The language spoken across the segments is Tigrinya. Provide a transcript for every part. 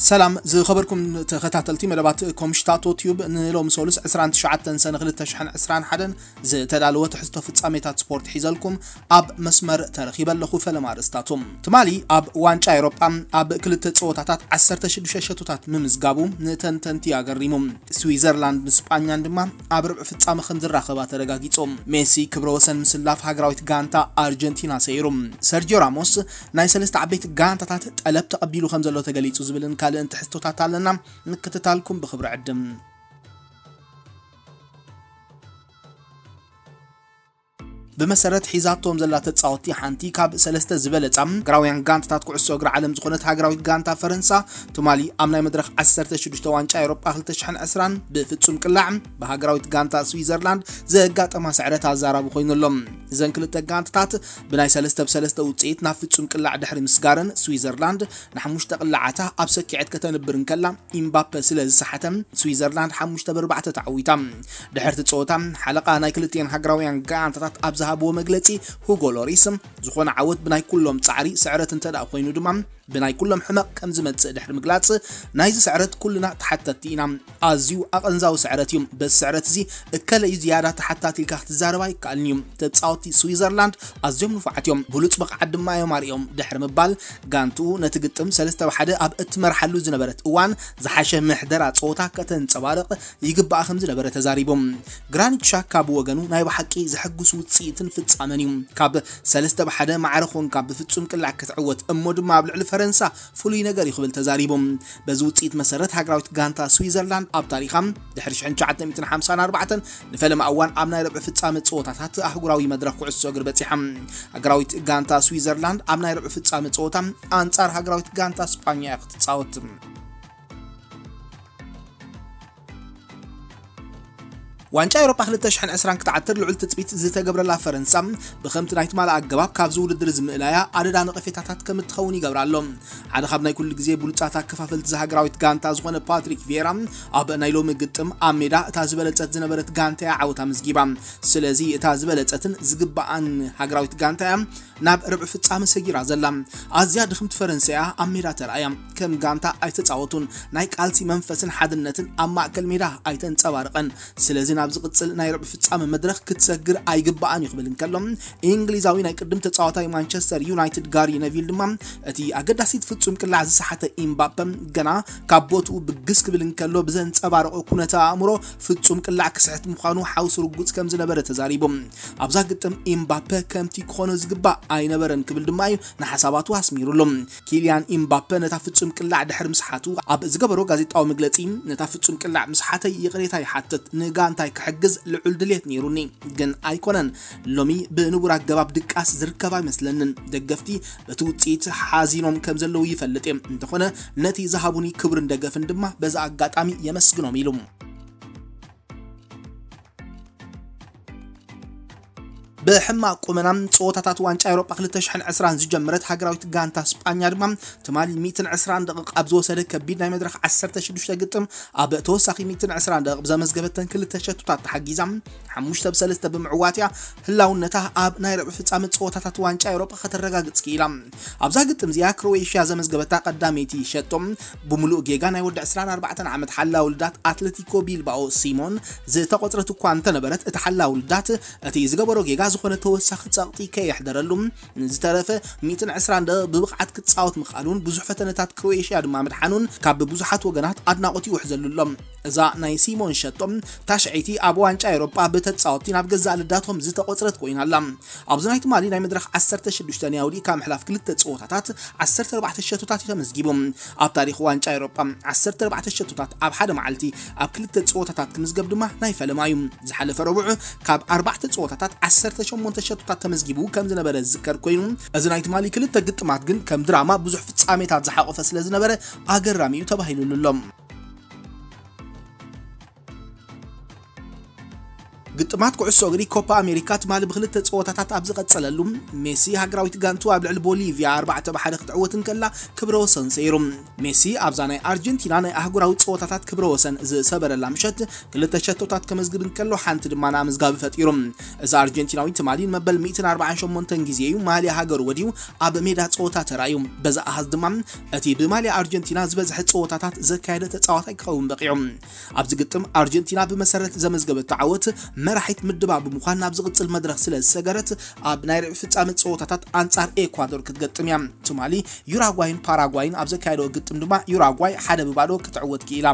ሰላም ዝኸበርኩም ተኸታተልቲ መደባት ኮምሽታቶ ቲዩብ፣ ንሎሚ ሰሉስ ዕስራን ትሽዓተን ሰነ ክልተ ሽሕን ዕስራን ሓደን ዝተዳለወ ትሕዝቶ ፍጻሜታት ስፖርት ሒዘልኩም ኣብ መስመር ተረኺበ ኣለኹ። ፈለማ ኣርእስታቶም። ትማሊ ኣብ ዋንጫ ኤውሮጳ ኣብ ክልተ ጸወታታት ዓሰርተ ሽዱሽተ ሸቶታት ምምዝጋቡ ንተንተንቲ ኣገሪሙ። ስዊዘርላንድ ንስጳኛን ድማ ኣብ ርብዒ ፍጻመ ከም ዝራኸባ ተረጋጊጹ። ሜሲ ክብረ ወሰን ምስላፍ ሃገራዊት ጋንታ ኣርጀንቲና ሰይሩ። ሰርጂዮ ራሞስ ናይ ሰለስተ ዓበይቲ ጋንታታት ጠለብ ተቐቢሉ ከም ዘሎ ተገሊጹ ዝብልን ካልእን ትሕዝቶታት ኣለና። ምክትታልኩም ብኽብሪ ዕድም። ብመሰረት ሒዛቶም ዘላ ተጻወትቲ ሓንቲ ካብ ሰለስተ ዝበለጻ ሃገራውያን ጋንታታት ኩዕሶ እግሪ ዓለም ዝኾነት ሃገራዊት ጋንታ ፈረንሳ፣ ትማሊ ኣብ ናይ መድረኽ ዓሰርተ ሽዱሽተ ዋንጫ ኤውሮጳ ክልተ ሽሕን ዕስራን ብፍጹም ቅላዕ ብሃገራዊት ጋንታ ስዊዘርላንድ ዘጋጠማ ስዕረት ኣዛራቢ ኮይኑ ኣሎ። እዘን ክልተ ጋንታታት ብናይ ሰለስተ ብ ሰለስተ ውጽኢት ናብ ፍጹም ቅላዕ ድሕሪ ምስጋረን፣ ስዊዘርላንድ ንሓሙሽተ ቅላዓታ ኣብ ሰኪዐት ከተንብር እንከላ፣ ኢምባፔ ስለ ዝሰሓተ፣ ስዊዘርላንድ ሓሙሽተ ብ ኣርባዕተ ተዓዊታ። ድሕርቲ ጸወታ፣ ሓለቓ ናይ ክልቲኤን ሃገራውያን ጋንታታት ኣብ ዝሃብዎ መግለጺ፣ ሁጎ ሎሪስ፣ ዝኾነ ዓወት ብናይ ኩሎም ጻዕሪ፣ ስዕረት እንተ ደኣ ኮይኑ ድማ ብናይ ኩሎም ሕመቕ ከም ዝመጽእ ድሕሪ ምግላጽ፣ ናይዚ ስዕረት ኩልና ተሓተትቲ ኢና። ኣዝዩ ኣቐንዛዊ ስዕረት እዩ። በዚ ስዕረት እዚ እከለ እዩ ዝያዳ ተሓታቲ ኢልካ ክትዛረብ ኣይከኣልን እዩ። ተጻወትቲ ስዊዘርላንድ ኣዝዮም ንፉዓት እዮም፣ ብሉጽ ብቕዓት ድማ እዮም ኣርእዮም ድሕሪ ምባል፣ ጋንትኡ ነቲ ግጥም ሰለስተ ብ ሓደ ኣብ እትመርሓሉ ዝነበረት እዋን ዝሓሸ ምሕደራ ጸወታ ከተንጸባርቕ ይግባኣ ከም ዝነበረ ተዛሪቡ። ግራኒት ሻካ ብወገኑ ናይ ብሓቂ ዘሐጉስ ውጽኢትን ፍጻመን እዩ። ካብ ሰለስተ ብ ሓደ ማዕረ ኮንካ ብፍጹም ቅላዕ ክትዕወት እሞ ድማ ኣብ ልዕሊ ፈረንሳ ፍሉይ ነገር እዩ ክብል ተዛሪቡ። በዚ ውጽኢት መሰረት ሃገራዊት ጋንታ ስዊዘርላንድ ኣብ ታሪኻ ድሕሪ ሽሕን ትሽዓተ ሚእትን ሓምሳን ኣርባዕተን ንፈለማ እዋን ኣብ ናይ ርብዒ ፍጻመ ጸወታታት ኣህጉራዊ መድረኽ ኩዕሶ እግሪ በጺሓ። ሃገራዊት ጋንታ ስዊዘርላንድ ኣብ ናይ ርብዒ ፍጻመ ጸወታ ኣንጻር ሃገራዊት ጋንታ ስጳኛ እያ ክትጻወት። ዋንጫ ኤውሮጳ ክልተ ሽሕን ዕስራን ክትዓትር ልዑል ትጽቢት ዝተገብረላ ፈረንሳ፣ ብኸምቲ ናይ ትማሊ ኣገባብ ካብዚ ውድድር ዝምእላያ ኣደዳ ነቐፌታታት ከም እትኸውን ይገብራ ኣሎ። ሓደ ካብ ናይ ኩሉ ግዜ ብሉጻት ኣከፋፈልቲ እዛ ሃገራዊት ጋንታ ዝኾነ ፓትሪክ ቪየራ፣ ኣብ ናይ ሎሚ ግጥም ኣብ ሜዳ እታ ዝበለጸት ዝነበረት ጋንታ እያ ዓወት ኣመዝጊባ። ስለዚ እታ ዝበለጸትን ዝግባኣን ሃገራዊት ጋንታ እያ ናብ ርብዒ ፍጻመ ሰጊራ ዘላ። ኣዝያ ድኽምቲ ፈረንሳ እያ ኣብ ሜዳ ተራእያ። ከም ጋንታ ኣይተጻወቱን። ናይ ቃልሲ መንፈስን ሓድነትን ኣብ ማእከል ሜዳ ኣይተንጸባረቐን። ስለዚ ናብ ዝቕጽል ናይ ርብዒ ፍጻመ መድረኽ ክትሰግር ኣይግባኣን እዩ ክብል እንከሎ፣ እንግሊዛዊ ናይ ቅድም ተጻዋታይ ማንቸስተር ዩናይትድ ጋሪ ነቪል ድማ፣ እቲ ኣገዳሲት ፍጹም ቅላዕ ዝሰሓተ ኢምባፐ ገና ካብ ቦትኡ ብግስ ክብል እንከሎ ብዘንጸባረቖ ኩነተ ኣእምሮ፣ ፍጹም ቅላዕ ክስሕት ምዃኑ ሓውሲ ርጉጽ ከም ዝነበረ ተዛሪቡ። ኣብዛ ግጥም ኢምባፐ ከምቲ ክኾኖ ዝግባእ ኣይነበረን ክብል ድማ እዩ ንሓሳባቱ ኣስሚሩሉ። ኪልያን ኢምባፐ ነታ ፍጹም ቅላዕ ድሕሪ ምስሓቱ ኣብ ዝገበሮ ጋዜጣዊ መግለጺ፣ ነታ ፍጹም ቅላዕ ምስሓተይ ይቕሬታ ይሓትት፣ ንጋንታይ ክሕግዝ ልዑል ድሌት ነይሩኒ፣ ግን ኣይኮነን። ሎሚ ብንቡር ኣገባብ ድቃስ ዝርከብ ኣይመስለንን። ደገፍቲ በቲ ውጽኢት ሓዚኖም ከም ዘለዉ ይፈልጥ እየ። እንተኾነ ነቲ ዝሃቡኒ ክብርን ደገፍን ድማ በዚ ኣጋጣሚ የመስግኖም ኢሉ። ብሕማቕ ቁመና ጸወታታት ዋንጫ ኤውሮጳ ክልተ ሽሕን ዕስራን ዝጀመረት ሃገራዊት ጋንታ ስጳኛ ድማ ትማሊ ሚእትን ዕስራን ደቂቕ ኣብ ዝወሰደ ከቢድ ናይ መድረኽ ዓሰርተ ሽዱሽተ ግጥም ኣብ ተወሳኺ ሚእትን ዕስራን ደቂቕ ብዘመዝገበተን ክልተ ሸቶታት ተሓጊዛ ሓሙሽተ ብ ሰለስተ ብምዕዋት እያ ህላውነታ ኣብ ናይ ርብዒ ፍጻመ ጸወታታት ዋንጫ ኤውሮጳ ከተረጋግጽ ክኢላ። ኣብዛ ግጥም እዚኣ ክሮኤሽያ ዘመዝገበታ ቀዳመይቲ ሸቶ ብምሉእ ጌጋ ናይ ወዲ ዕስራን ኣርባዕተን ዓመት ሓላው ልዳት ኣትለቲኮ ቢልባኦ ሲሞን ዝተቖጽረት እኳ እንተነበረት፣ እቲ ሓላው ልዳት እቲ ዝገበሮ ጌጋ ዝኾነ ተወሳኺ ጸቕጢ ከየሕደረሉ ንዝተረፈ ሚእትን ዕስራን ደቂቕ ብብቕዓት ክጻወት ምኽኣሉን ብዙሕ ፈተነታት ክሮኤሽያ ድማ ምድሓኑን ካብ ብዙሓት ወገናት ኣድናቖት ይውሕዘሉ ኣሎ። እዛ ናይ ሲሞን ሸቶ ታሽዐይቲ ኣብ ዋንጫ ኤውሮጳ ብተጻወትቲ ናብ ገዛእ ልዳቶም ዝተቖጽረት ኮይና ኣላ። ኣብዚ ናይ ትማሊ ናይ መድረኽ ዓሰርተ ሽዱሽተ ናይ ኣውዲእካ ምሕላፍ ክልተ ጸወታታት ዓሰርተ ኣርባዕተ ሸቶታት እዩ ተመዝጊቡ። ኣብ ታሪኽ ዋንጫ ኤውሮጳ ዓሰርተ ኣርባዕተ ሸቶታት ኣብ ሓደ መዓልቲ ኣብ ክልተ ጸወታታት ክምዝገብ ድማ ናይ ፈለማ እዩ። ዝሓለፈ ረቡዕ ካብ ኣርባዕተ ጸወታታት ዓሰርተ ሸሞንተ ሸቶታት ተመዝጊቡ ከም ዝነበረ ዝዝከር ኮይኑ፣ እዚ ናይ ትማሊ ክልተ ግጥማት ግን ከም ድራማ ብዙሕ ፍጻሜታት ዝሓቖፈ ስለ ዝነበረ ኣገራሚ እዩ ተባሂሉሉ ኣሎ። ግጥማት ኩዕሶ እግሪ ኮፓ ኣሜሪካ ትማሊ ብክልተ ጸወታታት ኣብ ዝቐጸለሉ፣ ሜሲ ሃገራዊት ጋንቱ ኣብ ልዕሊ ቦሊቪያ ኣርባዕተ ብ ሓደ ክትዕወት እንከላ ክብረ ወሰን ሰይሩ። ሜሲ ኣብዛ ናይ ኣርጀንቲና ናይ ኣህጉራዊ ጸወታታት ክብረ ወሰን ዝሰበረላ ምሸት ክልተ ሸቶታት ከመዝግብ እንከሎ ሓንቲ ድማ ንኣመዝጋቢ ፈጢሩ። እዚ ኣርጀንቲናዊ ትማሊ ንመበል ሚእትን ኣርባዓን ሸሞንተን ግዜ እዩ ማልያ ሃገሩ ወዲዩ ኣብ ሜዳ ጸወታ ተራእዩ። በዚ ኣሃዝ ድማ እቲ ብማልያ ኣርጀንቲና ዝበዝሐ ጸወታታት ዘካየደ ተጻዋታይ ክኸውን በቒዑ። ኣብዚ ግጥም ኣርጀንቲና ብመሰረት ዘመዝገበቶ ዓወት መራሒት ምድባ ብምዃን ናብ ዝቕጽል መድረኽ ስለ ዝሰገረት ኣብ ናይ ርብዒ ፍጻመ ጸወታታት ኣንጻር ኤኳዶር ክትገጥም እያ። ትማሊ ዩራጓይን ፓራጓይን ኣብ ዘካየደዎ ግጥም ድማ ዩራጓይ ሓደ ብባዶ ክትዕወት ክኢላ።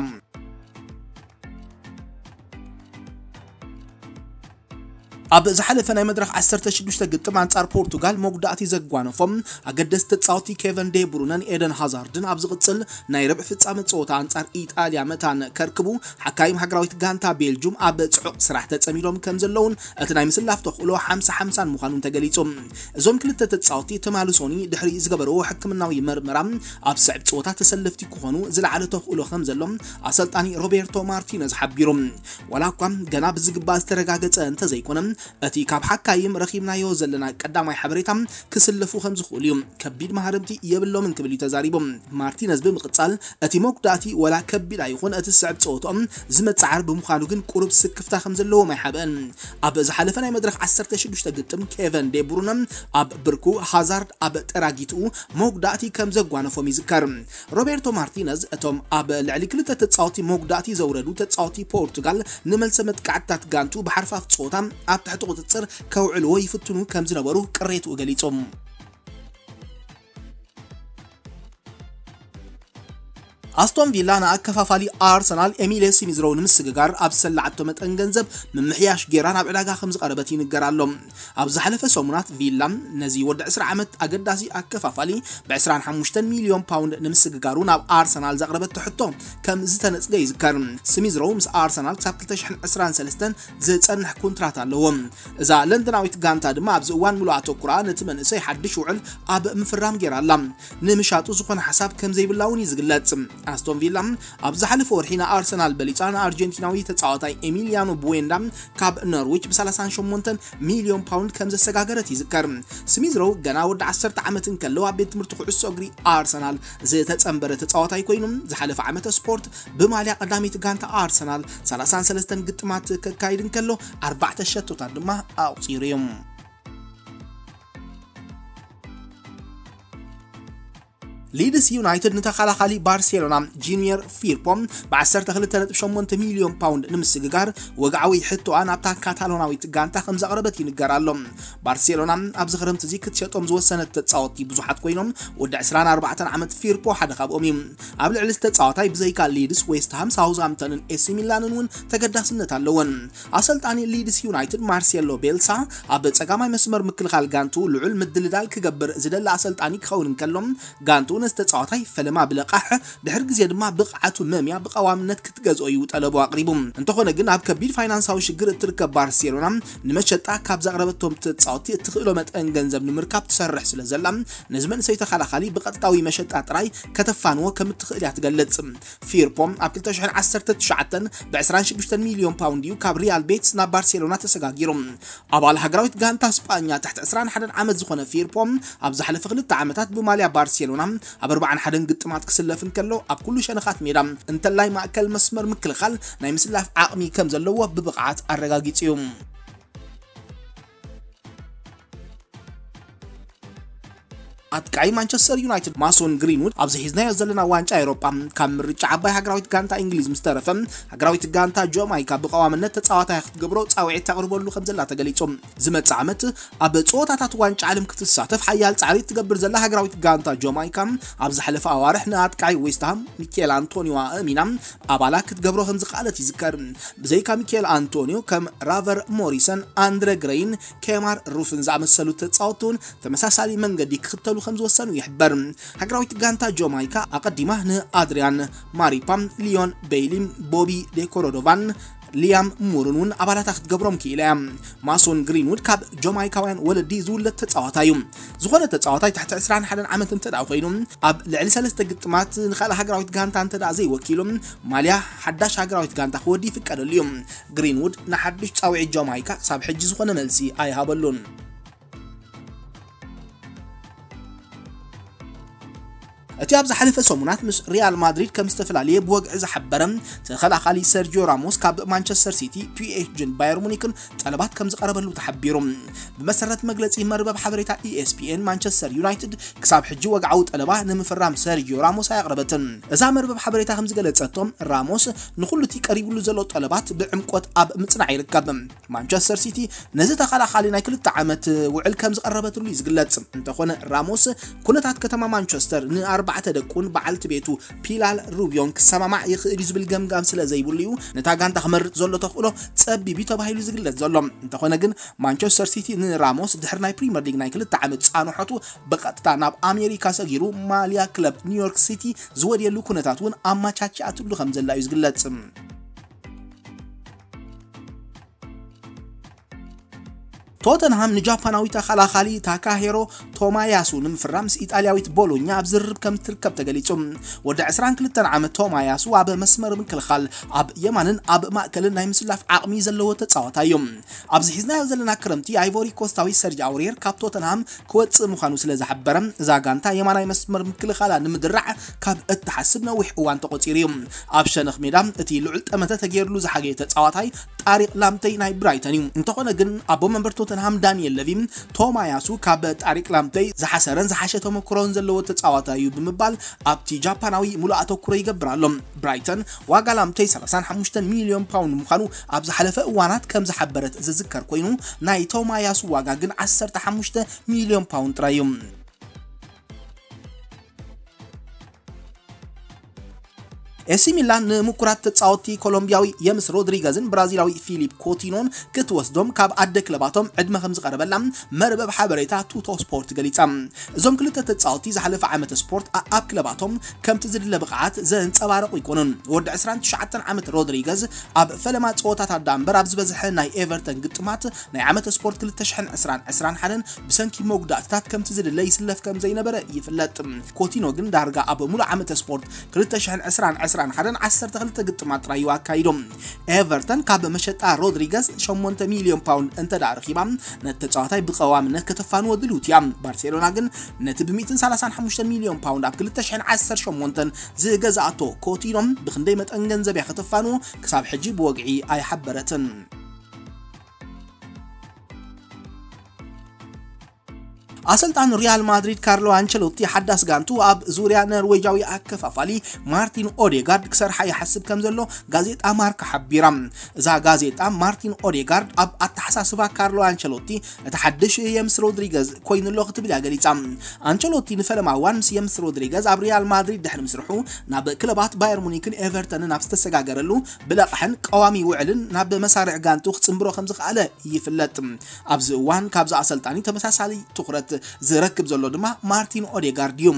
ኣብ ዝሓለፈ ናይ መድረኽ ዓሰርተ ሽዱሽተ ግጥም ኣንጻር ፖርቱጋል መጉዳእቲ ዘጓነፎም ኣገደስቲ ተጻወቲ ኬቨን ዴ ብሩነን ኤደን ሃዛርድን ኣብ ዝቕጽል ናይ ርብዒ ፍጻመ ጸወታ ኣንጻር ኢጣልያ መታን ከርክቡ፣ ሓካይም ሃገራዊት ጋንታ ቤልጁም ኣብ ጽዑቕ ስራሕ ተጸሚዶም ከም ዘለውን እቲ ናይ ምስላፍ ተኽእሎ ሓምሳ ሓምሳን ምዃኑን ተገሊጹ። እዞም ክልተ ተጻወቲ ትማሊ ሶኒ ድሕሪ ዝገበርዎ ሕክምናዊ መርመራ ኣብ ስዕብ ጸወታ ተሰለፍቲ ክኾኑ ዝለዓለ ተኽእሎ ከም ዘሎ ኣሰልጣኒ ሮቤርቶ ማርቲነዝ ሓቢሩ። ዋላ እኳ ገና ብዝግባእ ዝተረጋገጸ እንተዘይኮነ፣ እቲ ካብ ሓካይም ረኺብናዮ ዘለና ቀዳማይ ሓበሬታ ክስለፉ ከም ዝኽእሉ እዩ። ከቢድ ማህረምቲ የብሎምን ክብል እዩ ተዛሪቡ። ማርቲነዝ ብምቕጻል፣ እቲ መጉዳእቲ ወላ ከቢድ ኣይኹን፣ እቲ ዝስዕብ ጸወትኦም ዝመጽዓር ብምዃኑ ግን ቁሩብ ስክፍታ ከም ዘለዎም ኣይሓብአን። ኣብ ዝሓለፈ ናይ መድረኽ ዓሰርተ ሽዱሽተ ግጥም ኬቨን ዴ ብሩነ ኣብ ብርኩ፣ ሃዛርድ ኣብ ጠራጊትኡ መጉዳእቲ ከም ዘጓነፎም ይዝከር። ሮቤርቶ ማርቲነዝ እቶም ኣብ ልዕሊ ክልተ ተጻወቲ መጉዳእቲ ዘውረዱ ተጻወቲ ፖርቱጋል ንመልሰ መጥቃዕትታት ጋንቱ ብሓርፋፍ ጸወታ ኣብ ትሕቲ ቁጽጽር ከውዕልዎ ይፍትኑ ከም ዝነበሩ ቅሬትኡ ገሊጹ። ኣስቶን ቪላ ንኣከፋፋሊ ኣርሰናል ኤሚሌ ስሚዝሮው ንምስግጋር ኣብ ዝሰላዓቶ መጠን ገንዘብ ምምሕያሽ ጌራ ናብ ዕዳጋ ከም ዝቐረበት ይንገር ኣሎ። ኣብ ዝሓለፈ ሰሙናት ቪላ ነዚ ወዲ ዕስራ ዓመት ኣገዳሲ ኣከፋፋሊ ብ ዕስራን ሓሙሽተን ሚልዮን ፓውንድ ንምስግጋሩ ናብ ኣርሰናል ዘቕረበቶ ሕቶ ከም ዝተነጽገ ይዝከር። ስሚዝሮው ምስ ኣርሰናል ክሳብ ክልተ ሽሕን ዕስራን ሰለስተን ዝጸንሕ ኮንትራት ኣለዎ። እዛ ለንደናዊት ጋንታ ድማ ኣብዚ እዋን ምሉእ ኣተኩራ ነቲ መንእሰይ ሓድሽ ውዕል ኣብ ምፍራም ጌራ ኣላ። ንምሻጡ ዝኾነ ሓሳብ ከም ዘይብላ እውን እዩ ዝግለጽ። ኣስቶን ቪላ ኣብ ዝሓለፈ ወርሒ ንኣርሰናል በሊጻ ንኣርጀንቲናዊ ተጻዋታይ ኤሚሊያኖ ቡዌንዳ ካብ ኖርዊች ብ ሰላሳን ሸሞንተን ሚልዮን ፓውንድ ከም ዘሰጋገረት ይዝከር። ስሚዝሮው ገና ወዲ ዓሰርተ ዓመት እንከሎ ኣብ ቤት ትምህርቲ ኩዕሶ እግሪ ኣርሰናል ዝተጸንበረ ተጻዋታይ ኮይኑ፣ ዝሓለፈ ዓመተ ስፖርት ብማልያ ቀዳሚት ጋንታ ኣርሰናል ሰላሳን ሰለስተን ግጥማት ከካይድ እንከሎ፣ ኣርባዕተ ሸቶታት ድማ ኣቑጺሩ እዩ። ሊድስ ዩናይትድ ንተኸላኻሊ ባርሴሎና ጂኒየር ፊርፖ ብ ዓሰርተ ክልተ ነጥቢ ሸሞንተ ሚልዮን ፓውንድ ንምስግጋር ወግዓዊ ሕቶኣ ናብታ ካታሎናዊት ጋንታ ከም ዘቕረበት ይንገር ኣሎ። ባርሴሎና ኣብዚ ክረምቲ እዚ ክትሸጦም ዝወሰነት ተጻወትቲ ብዙሓት ኮይኖም፣ ወዲ ዕስራን ኣርባዕተን ዓመት ፊርፖ ሓደ ካብኦም እዩ። ኣብ ልዕሊ ተጻዋታይ ብዘይካ ሊድስ፣ ዌስትሃም፣ ሳውዝሃምተንን ኤሲ ሚላንን እውን ተገዳስነት ኣለወን። ኣሰልጣኒ ሊድስ ዩናይትድ ማርሴሎ ቤልሳ ኣብ ጸጋማይ መስመር ምክልኻል ጋንቱ ልዑል ምድልዳል ክገብር ዝደሊ ኣሰልጣኒ ክኸውን እንከሎ፣ ጋንቱ ነዚ ተጻዋታይ ፈለማ ብለቓሕ፣ ድሕሪ ግዜ ድማ ብቕዓቱ መምያ ብቐዋምነት ክትገዝኦ እዩ ጠለቡ ኣቕሪቡ። እንተኾነ ግን ኣብ ከቢድ ፋይናንሳዊ ሽግር እትርከብ ባርሴሎና ንመሸጣ ካብ ዘቕረበቶም ተጻወትቲ እትኽእሎ መጠን ገንዘብ ንምርካብ ትሰርሕ ስለ ዘላ፣ ነዚ መንእሰይ ተኸላኻሊ ብቐጥታዊ መሸጣ ጥራይ ከተፋንዎ ከም እትኽእል እያ ትገልጽ። ፊርፖ ኣብ ክልተ ሽሕን ዓሰርተ ትሽዓተን ብ ዕስራን ሽዱሽተን ሚልዮን ፓውንድ እዩ ካብ ሪያል ቤትስ ናብ ባርሴሎና ተሰጋጊሩ። ኣባል ሃገራዊት ጋንታ ስጳኛ ትሕቲ ዕስራን ሓደን ዓመት ዝኾነ ፊርፖ ኣብ ዝሓለፈ ክልተ ዓመታት ብማልያ ባርሴሎና ኣብ ኣርባዓን ሓደን ግጥማት ክስለፍ እንከሎ፣ ኣብ ኩሉ ሸነኻት ሜዳ እንተላይ ማእከል መስመር ምክልኻል ናይ ምስላፍ ዓቕሚ ከም ዘለዎ ብብቕዓት ኣረጋጊጹ እዩ። ኣጥቃዒ ማንቸስተር ዩናይትድ ማሶን ግሪንውድ፣ ኣብዚ ሒዝናዮ ዘለና ዋንጫ ኤውሮጳ ካብ ምርጫ ዓባይ ሃገራዊት ጋንታ እንግሊዝ ምስ ተረፈ፣ ሃገራዊት ጋንታ ጃማይካ ብቐዋምነት ተጻዋታይ ክትገብሮ ጻውዒት ተቕርበሉ ከም ዘላ ተገሊጹ። ዝመጽእ ዓመት ኣብ ጸወታታት ዋንጫ ዓለም ክትሳተፍ ሓያል ጻዕሪ እትገብር ዘላ ሃገራዊት ጋንታ ጃማይካ፣ ኣብ ዝሓለፈ ኣዋርሕ ንኣጥቃዒ ዌስትሃም ሚኬል ኣንቶኒዮ ኣእሚና ኣባላ ክትገብሮ ከም ዝኸኣለት ይዝከር። ብዘይካ ሚኬል ኣንቶኒዮ፣ ከም ራቨር ሞሪሰን፣ ኣንድረ ግረይን ኬማር ሩፍን ዝኣመሰሉ ተጻወትቲ እውን ተመሳሳሊ መንገዲ ክኽተሉ ከም ዝወሰኑ ይሕበር። ሃገራዊት ጋንታ ጃማይካ ኣቐዲማ ንኣድሪያን ማሪፓ፣ ሊዮን ቤይሊ፣ ቦቢ ዴኮሮዶቫን ሊያም ሙርን እውን ኣባላታ ክትገብሮም ክኢላ እያ። ማሶን ግሪንውድ ካብ ጃማይካውያን ወለዲ ዝውለድ ተጻዋታይ እዩ። ዝኾነ ተጻዋታይ ትሕቲ ዕስራን ሓደን ዓመት እንተ ደኣ ኮይኑ፣ ኣብ ልዕሊ ሰለስተ ግጥማት ንኻልእ ሃገራዊት ጋንታ እንተ ደኣ ዘይወኪሉ፣ ማልያ ሓዳሽ ሃገራዊት ጋንታ ክወዲ ይፍቀደሉ እዩ። ግሪንውድ ንሓድሽ ጻውዒት ጃማይካ ክሳብ ሕጂ ዝኾነ መልሲ ኣይሃበሉን። እቲ ኣብ ዝሓለፈ ሰሙናት ምስ ሪያል ማድሪድ ከም ዝተፈላለየ ብወግዒ ዝሓበረ ተኸላኻሊ ሰርጂዮ ራሞስ ካብ ማንቸስተር ሲቲ፣ ፒ ኤስ ጂን ባየር ሙኒክን ጠለባት ከም ዝቐረበሉ ተሓቢሩ። ብመሰረት መግለጺ መርበብ ሓበሬታ ኢ ኤስ ፒ ኤን፣ ማንቸስተር ዩናይትድ ክሳብ ሕጂ ወግዓዊ ጠለባ ንምፍራም ሰርጂዮ ራሞስ ኣየቕረበትን። እዛ መርበብ ሓበሬታ ከም ዝገለጸቶ፣ ራሞስ ንኹሉ እቲ ቀሪቡሉ ዘሎ ጠለባት ብዕምቆት ኣብ ምጽናዕ ይርከብ። ማንቸስተር ሲቲ ነዚ ተኸላኻሊ ናይ ክልተ ዓመት ውዕል ከም ዝቐረበትሉ እዩ ዝግለጽ። እንተኾነ ራሞስ ኩነታት ከተማ ማንቸስተር ንኣርባዕተ ደቁን በዓልቲ ቤቱ ፒላር ሩቢዮን ክሰማማዕ ይኽእል እዩ ዝብል ገምጋም ስለ ዘይብሉ እዩ ነታ ጋንታ ክመርጽ ዘሎ ተኽእሎ ጸቢብ እዩ ተባሂሉ ዝግለጽ ዘሎ። እንተኾነ ግን ማንቸስተር ሲቲ ንራሞስ ድሕሪ ናይ ፕሪምየር ሊግ ናይ ክልተ ዓመት ጻንሖቱ ብቐጥታ ናብ ኣሜሪካ ሰጊሩ ማልያ ክለብ ኒውዮርክ ሲቲ ዝወድየሉ ኩነታት እውን ኣመቻችኣትሉ ከም ዘላ እዩ ዝግለጽ። ቶተንሃም ንጃፓናዊ ተኸላኻሊ ታካሄሮ ቶማያሱ ንምፍራም ምስ ኢጣልያዊት ቦሎኛ ኣብ ዝርርብ ከም ትርከብ ተገሊጹ። ወዲ ዕስራን ክልተን ዓመት ቶማያሱ ኣብ መስመር ምክልኻል ኣብ የማንን ኣብ ማእከልን ናይ ምስላፍ ዓቕሚ ዘለዎ ተጻዋታይ እዩ። ኣብዚ ሒዝናዮ ዘለና ክረምቲ ኣይቮሪ ኮስታዊ ሰርጅ ኣውሬር ካብ ቶተንሃም ክወጽእ ምዃኑ ስለ ዝሓበረ፣ እዛ ጋንታ የማናይ መስመር ምክልኻላ ንምድራዕ ካብ እትሓስብ ነዊሕ እዋን ተቖጺሩ እዩ። ኣብ ሸነኽ ሜዳ እቲ ልዑል ጠመተ ተገይርሉ ዝሓገየ ተጻዋታይ ጣሪቕ ላምተይ ናይ ብራይተን እዩ። እንተኾነ ግን ኣቦ መንበር ቶተንሃም ዳንኤል ለቪ ቶማያሱ ካብ ጣሪቕ ላምተይ ዝሓሰረን ዝሓሸ ተመክሮን ዘለዎ ተጻዋታይ እዩ ብምባል ኣብቲ ጃፓናዊ ሙሉእ ኣተኩሮ ይገብር ኣሎ። ብራይተን ዋጋ ላምተይ ሰላሳን ሓሙሽተን ሚልዮን ፓውንድ ምዃኑ ኣብ ዝሓለፈ እዋናት ከም ዝሓበረት ዝዝከር ኮይኑ፣ ናይ ቶማያሱ ዋጋ ግን ዓሰርተ ሓሙሽተ ሚልዮን ፓውንድ ጥራይ እዩ። ኤሲ ሚላን ንምኩራት ተጻወትቲ ኮሎምቢያዊ የምስ ሮድሪገዝን ብራዚላዊ ፊሊፕ ኮቲኖን ክትወስዶም ካብ ኣደ ክለባቶም ዕድመ ከም ዝቐረበላ መርበብ ሓበሬታ ቱቶ ስፖርት ገሊጻ። እዞም ክልተ ተጻወትቲ ዝሓለፈ ዓመት ስፖርት ኣ-፣ ኣብ ክለባቶም ከምቲ ዝድለ ብቕዓት ዘንጸባረቑ ኣይኮኑን። ወዲ ዕስራን ትሽዓተን ዓመት ሮድሪገዝ ኣብ ፈለማ ጸወታታት ደኣ እምበር ኣብ ዝበዝሐ ናይ ኤቨርተን ግጥማት ናይ ዓመት ስፖርት ክልተ ሽሕን ዕስራን ዕስራን ሓደን ብሰንኪ መጉዳእትታት ከምቲ ዝድለ ይስለፍ ከም ዘይነበረ ይፍለጥ። ኮቲኖ ግን ዳርጋ ኣብ ሙሉእ ዓመት ስፖርት ክልተ ሽሕን ዕስራን ዕስራን ሓደን ዓሰርተ ክልተ ግጥማት ጥራይ እዩ ኣካይዶም። ኤቨርተን ካብ መሸጣ ሮድሪገዝ ሸሞንተ ሚልዮን ፓውንድ እንተ ደኣ ረኺባ፣ ነቲ ተጻዋታይ ብቐዋምነት ከተፋንዎ ድልውቲ እያ። ባርሴሎና ግን ነቲ ብ ሚእትን ሰላሳን ሓሙሽተን ሚልዮን ፓውንድ ኣብ ክልተ ሽሕን ዓሰርተ ሸሞንተን ዝገዝኣቶ ኮቲኖ ብኽንደይ መጠን ገንዘብ እያ ከተፋንዎ ክሳብ ሕጂ ብወግዒ ኣይሓበረትን። ኣሰልጣን ሪያል ማድሪድ ካርሎ ኣንቸሎቲ ሓዳስ ጋንቱ ኣብ ዙርያ ኖርዌጃዊ ኣከፋፋሊ ማርቲን ኦዴጋርድ ክሰርሓ ይሓስብ ከም ዘሎ ጋዜጣ ማርካ ሓቢራ። እዛ ጋዜጣ ማርቲን ኦዴጋርድ ኣብ ኣተሓሳስባ ካርሎ ኣንቸሎቲ እቲ ሓድሽ የምስ ሮድሪገዝ ኮይኑ ኣሎ ክትብል እያ ገሊጻ። ኣንቸሎቲ ንፈለማ እዋን ምስ የምስ ሮድሪገዝ ኣብ ሪያል ማድሪድ ድሕሪ ምስርሑ ናብ ክለባት ባየር ሙኒክን ኤቨርተንን ኣብ ዝተሰጋገረሉ ብለቕሕን ቀዋሚ ውዕልን ናብ መሳርዕ ጋንቱ ክጽንብሮ ከም ዝኸኣለ ይፍለጥ። ኣብዚ እዋን ካብዚ ኣሰልጣኒ ተመሳሳሊ ትኹረት ዝረክብ ዘሎ ድማ ማርቲን ኦዴጋርድ እዩ።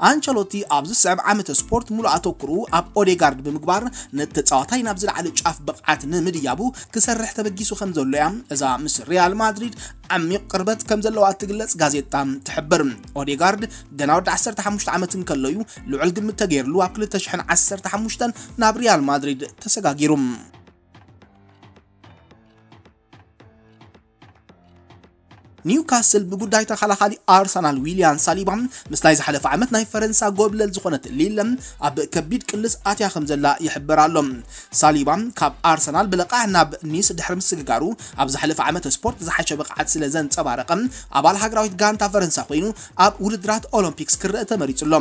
ኣንቸሎቲ ኣብዚ ዝስዕብ ዓመተ ስፖርት ሙሉእ ኣተኩርኡ ኣብ ኦዴጋርድ ብምግባር ነቲ ተጻዋታይ ናብ ዝለዓለ ጫፍ ብቕዓት ንምድያቡ ክሰርሕ ተበጊሱ ከም ዘሎ እያ እዛ ምስ ሪያል ማድሪድ ዓሚቕ ቅርበት ከም ዘለዋ እትግለጽ ጋዜጣ ትሕብር። ኦዴጋርድ ገና ወዲ ዓሰርተ ሓሙሽተ ዓመት እንከሎ እዩ ልዑል ግምት ተገይርሉ ኣብ ክልተ ሽሕን ዓሰርተ ሓሙሽተን ናብ ሪያል ማድሪድ ተሰጋጊሩ። ኒውካስል ብጉዳይ ተኸላኻሊ ኣርሰናል ዊልያን ሳሊባ ምስ ናይ ዝሓለፈ ዓመት ናይ ፈረንሳ ጎብለል ዝኾነት ሊለ ኣብ ከቢድ ቅልስ ኣትያ ከም ዘላ ይሕበር ኣሎ። ሳሊባ ካብ ኣርሰናል ብለቓሕ ናብ ኒስ ድሕሪ ምስግጋሩ ኣብ ዝሓለፈ ዓመት ስፖርት ዝሓሸ ብቕዓት ስለ ዘንጸባረቐ ኣባል ሃገራዊት ጋንታ ፈረንሳ ኮይኑ ኣብ ውድድራት ኦሎምፒክስ ክረአ ተመሪጹ ኣሎ።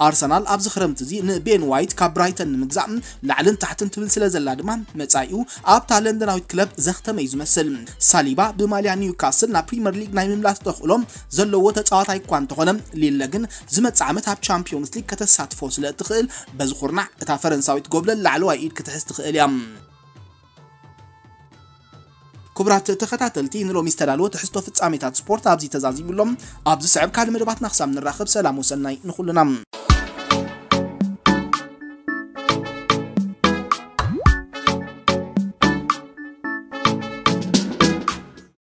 ኣርሰናል ኣብዚ ክረምቲ እዚ ንቤን ዋይት ካብ ብራይተን ንምግዛእ ላዕልን ታሕትን ትብል ስለ ዘላ ድማ መጻኢኡ ኣብታ ለንደናዊት ክለብ ዘኽተመ እዩ ዝመስል። ሳሊባ ብማልያ ኒውካስል ናብ ፕሪምየር ሊግ ናይ ምምላስ ተኽእሎ ዘለዎ ተጻዋታይ እኳ እንተኾነ፣ ሊለ ግን ዝመጽእ ዓመት ኣብ ቻምፒዮንስ ሊግ ከተሳትፎ ስለ እትኽእል፣ በዚ ኩርናዕ እታ ፈረንሳዊት ጎብለል ላዕለዋይ ኢድ ክትሕዝ ትኽእል እያ። ክቡራት ተኸታተልቲ፣ ንሎሚ ዝተዳለወ ትሕዝቶ ፍጻሜታት ስፖርት ኣብዚ ተዛዚሙ ኣሎ። ኣብዚ ስዕብ ካልእ መደባትና ክሳብ ንራኸብ፣ ሰላም ወሰናይ ንኹልና።